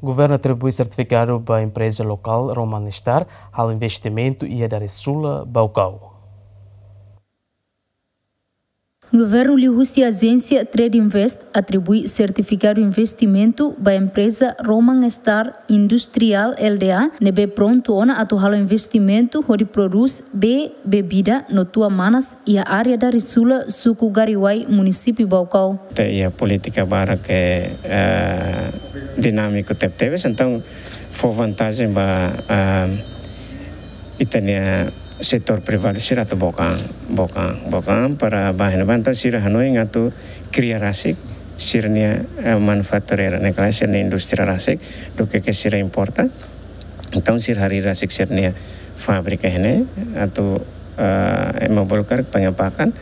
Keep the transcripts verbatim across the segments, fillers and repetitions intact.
Governu atribui sertifikadu ba empreza lokál Roman Star halo investimentu iha Darisula, Baucau. Governu liuhusi ajénsia Trade Invest atribui sertifikadu investimentu ba empreza Roman Star Industrial L D A ne'ebé prontu ona atu halo investimentu hodi prodús bee bebida no tua manas iha área Darisula, suku Gariuai, munisípiu Baucau. Ita iha polítika barak ke, eh, dinámiku tebetebes, entaun fó vantajen ba, eh, ita-nia setór privadu sira atu book an, book an, book an para ba iha ne'ebá, entaun sira hanoin atu kria rasik sira-nia, eh, manufatureira, ne'e ka lae, sira-nia indústria rasik, duké ke sira importa. Entaun sira harii rasik sira-nia fábrika iha ne'e atu, eh, ema bolu karik pengepakan,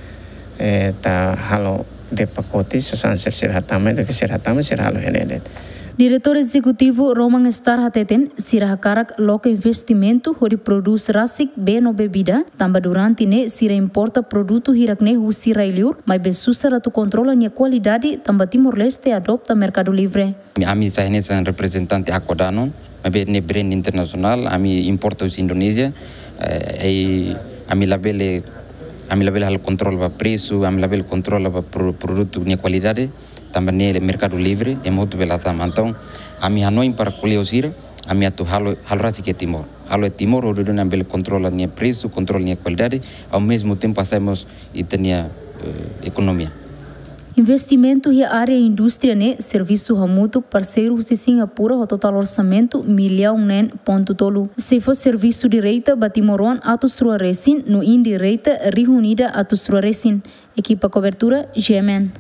eh, ita halo de'it pakote, sasán sira, sira hatama, duké sira hatama, sira halo iha ne'e de'it. Diretór Ezekutivu Roman Star hateten, sira hakarak loke investimentu hodi prodús rasik bee no bebida, tanba durante ne'e sira importa produtu hirak-ne'e husi rai-liur, maibé susar atu kontrola nia kualidade, tanba Timor-Leste adota merkadu livre. Ami sai hanesan reprezentante Aqua Danone, maibé ne'e brand internasionál, ami importa husi Indonézia, eh, i ami labele, ami labele halo kontrola ba presu, ami labele kontrola ba pro-, produtu nia kualidade, tanba ne'e merkadu livre, ema hotu bele hatama. Entaun, ami hanoin para kolega sira, ami atu halo, halo rasik iha Timor. Halo iha Timor, hodi nune'e ami bele kontrola nia presu, kontrola nia kualidade, ao mesmo tempo hasa'e mós ita-nia, eh, ekonomia. Investimentu iha área indústria ne'e servisu hamutuk parseiru husi Singapura ho totál orsamentu millaun neen pontu tolu. Sei fó servisu direta ba timoroan atus rua resin no indireta rihun ida atus rua resin. Ekipa kobertura, G M N.